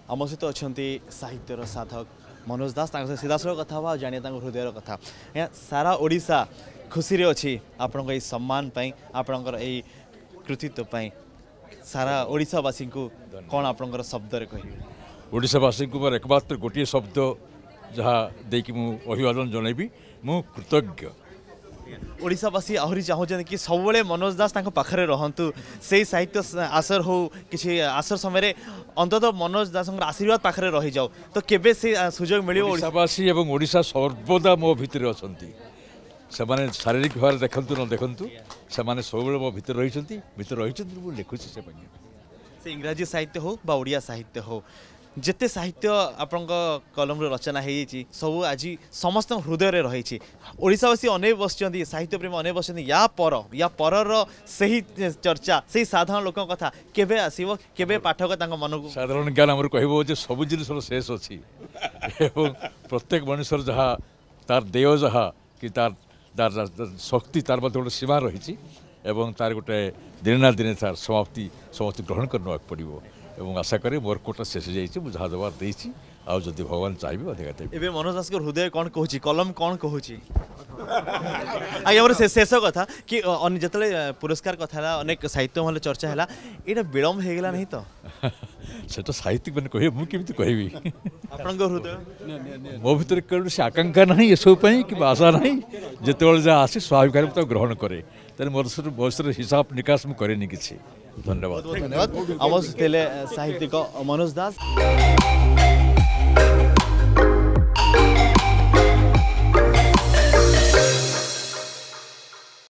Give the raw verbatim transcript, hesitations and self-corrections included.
ଆମ ସହିତ ଅଛନ୍ତି ସାହିତ୍ୟର ସାଧକ ମନୋଜ ଦାସ। ତାଙ୍କ ସହିତ ସିଧାସଳଖ କଥା ହେବା ଆଉ ଜାଣିବା ତାଙ୍କ ହୃଦୟର କଥା। ଆଜ୍ଞା, ସାରା ଓଡ଼ିଶା ଖୁସିରେ ଅଛି ଆପଣଙ୍କ ଏଇ ସମ୍ମାନ ପାଇଁ, ଆପଣଙ୍କର ଏଇ କୃତିତ୍ୱ ପାଇଁ। ସାରା ଓଡ଼ିଶାବାସୀଙ୍କୁ କ'ଣ ଆପଣଙ୍କର ଶବ୍ଦରେ କହିବେ? ଓଡ଼ିଶାବାସୀଙ୍କୁ ମୋର ଏକମାତ୍ର ଗୋଟିଏ ଶବ୍ଦ ଯାହା ଦେଇକି ମୁଁ ଅଭିବାଦନ ଜଣାଇବି, ମୁଁ କୃତଜ୍ଞ। ଓଡ଼ିଶାବାସୀ ଆହୁରି ଚାହୁଁଛନ୍ତି କି ସବୁବେଳେ ମନୋଜ ଦାସ ତାଙ୍କ ପାଖରେ ରହନ୍ତୁ, ସେଇ ସାହିତ୍ୟ ଆସର ହଉ କିଛି ଆସର ସମୟରେ ଅନ୍ତତଃ ମନୋଜ ଦାସଙ୍କର ଆଶୀର୍ବାଦ ପାଖରେ ରହିଯାଉ। ତ କେବେ ସେ ସୁଯୋଗ ମିଳିବ? ଓଡ଼ିଶାବାସୀ ଏବଂ ଓଡ଼ିଶା ସର୍ବଦା ମୋ ଭିତରେ ଅଛନ୍ତି। ସେମାନେ ଶାରୀରିକ ଭାବରେ ଦେଖନ୍ତୁ ନ ଦେଖନ୍ତୁ, ସେମାନେ ସବୁବେଳେ ମୋ ଭିତରେ ରହିଛନ୍ତି, ଭିତରେ ରହିଛନ୍ତି। ମୁଁ ଲେଖୁଛି ସେ ପାଇଁ। ସେ ଇଂରାଜୀ ସାହିତ୍ୟ ହଉ ବା ଓଡ଼ିଆ ସାହିତ୍ୟ ହଉ, ଯେତେ ସାହିତ୍ୟ ଆପଣଙ୍କ କଲମରୁ ରଚନା ହେଇଯାଇଛି ସବୁ ଆଜି ସମସ୍ତଙ୍କ ହୃଦୟରେ ରହିଛି। ଓଡ଼ିଶାବାସୀ ଅନେକ ବସିଛନ୍ତି, ସାହିତ୍ୟ ପ୍ରେମୀ ଅନେକ ବସିଛନ୍ତି, ୟା ପର ୟା ପରର ସେହି ଚର୍ଚ୍ଚା, ସେଇ ସାଧାରଣ ଲୋକଙ୍କ କଥା କେବେ ଆସିବ, କେବେ ପାଠକ ତାଙ୍କ ମନକୁ? ସାଧାରଣ ଜ୍ଞାନ ଆମର କହିବ ଯେ ସବୁ ଜିନିଷର ଶେଷ ଅଛି ଏବଂ ପ୍ରତ୍ୟେକ ମଣିଷର ଯାହା ତାର ଦେହ ଯାହା କି ତାର ତାର ଶକ୍ତି, ତାର ମଧ୍ୟ ଗୋଟେ ସୀମା ରହିଛି ଏବଂ ତାର ଗୋଟେ ଦିନେ ନା ଦିନେ ତାର ସମାପ୍ତି ସମସ୍ତେ ଗ୍ରହଣ କରି ନେବାକୁ ପଡ଼ିବ। ଏବଂ ଆଶା କରେ ମୋର କୋଟା ଶେଷ ହେଇଯାଇଛି, ମୁଁ ଯାହା ଦେବାର ଦେଇଛି, ଆଉ ଯଦି ଭଗବାନ ଚାହିଁବେ ଅଧିକା ଦେବି। ଏବେ ମନୋଜ ଦାସଙ୍କ ହୃଦୟ କ'ଣ କହୁଛି, କଲମ କ'ଣ କହୁଛି? ଆଜ୍ଞା, ମୋର ଶେଷ କଥା କି ଯେତେବେଳେ ପୁରସ୍କାର କଥା ହେଲା, ଅନେକ ସାହିତ୍ୟ ମହଲରେ ଚର୍ଚ୍ଚା ହେଲା, ଏଇଟା ବିଳମ୍ବ ହେଇଗଲା ନାହିଁ ତ? ସେଟା ସାହିତ୍ୟିକ ମାନେ କହିବେ, ମୁଁ କେମିତି କହିବି? ଆପଣଙ୍କ ହୃଦୟ? ମୋ ଭିତରେ କୌଣସି ଆକାଂକ୍ଷା ନାହିଁ ଏସବୁ ପାଇଁ କିମ୍ବା ଆଶା ନାହିଁ। ଯେତେବେଳେ ଯାହା ଆସେ ସ୍ୱାଭାବିକ ଭାବରେ ମୁଁ ତାକୁ ଗ୍ରହଣ କରେ। ତେଣୁ ମୋର ବୟସର ହିସାବ ନିକାଶ ମୁଁ କରେନି କିଛି। ଧନ୍ୟବାଦ। ଧନ୍ୟବାଦ। ଆମ ଥିଲେ ସାହିତ୍ୟିକ ମନୋଜ ଦାସ।